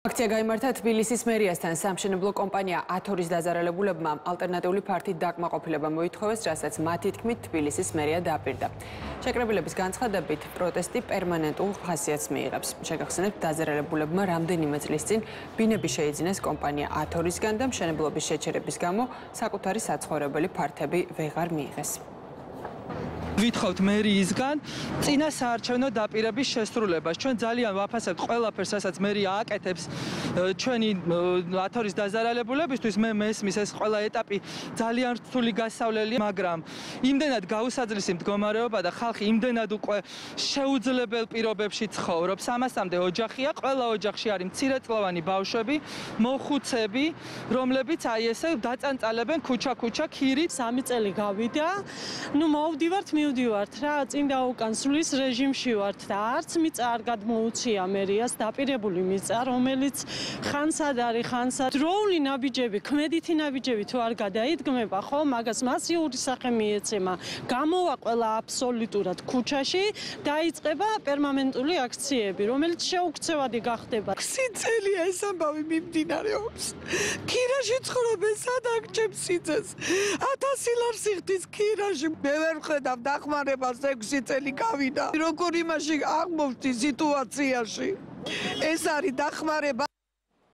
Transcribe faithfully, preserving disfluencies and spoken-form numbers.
აქცია გაიმართა თბილისის მერიასთან. სამშენებლო კომპანია ათორის დაზარალებულებმა ალტერნატიული ფართით დაკმაყოფილება მოითხოვეს, რასაც მათი თქმით თბილისის მერია დააპირდა. შეკრებილების განცხადებით პროტესტი პერმანენტულ ხასიათს მიიღებს. შეგახსენებთ, დაზარალებულებმა რამდენიმე წლის წინ ბინები შეიძინეს კომპანია ათორისგან და მშენებლობის შეჩერების გამო საკუთარი საცხოვრებელი ფართები ვეღარ მიიღეს. Ვითხოვთ მერიისგან წინა საარჩევნო დაპირების შესრულებას. Ჩვენ ძალიან ვაფასებთ ყველაფერს, რასაც მერია აკეთებს ჩვენი ათორის დაზარალებულებისთვის. მე მესმის ეს ყველა ეტაპი ძალიან რთული გასავლელია, მაგრამ იმდენად გაუსაძლისი მდგომარეობა და ხალხი იმდენად უკვე შეუძლებელ პირობებში ცხოვრობს. ამასამდე ოჯახია, ყველა ოჯახში არის მცირეწლოვანი ბავშვები, მოხუცები, რომლებიც აი ესე დაწანწალებენ ქუჩა-ქუჩა ქირით. სამი წელი გავიდა. ნუ მოვდივართ მივდივართ რა, წინ და უკან სulis რეჟიმში ვართ და არც მიწა არ გადმოუცია მერიას, დაპირებული მიწა, რომელიც ხანსად არის, ხანსად დროული ნაბიჯები, ქმედითი ნაბიჯები თუ არ გადაიდგმება, ხო, მაგას მასიური სახე მიეცემა. გამოვა ყველა აბსოლუტურად ქუჩაში, დაიწყება პერმანენტული აქციები, რომელიც შეუქცევადი გახდება. ქსი წელია ეს ამბავი მიმდინარეობს. ქირაში ცხოვრობენ, სად აგჭებს სიძეს? ათასი ლარს იხდის ქირაში. მე ვერ ვხედავ დახმარებას ექვსი წელი გავიდა. როგორ იმაში აღმოჩნდი სიტუაციაში? ეს არის დახმარება.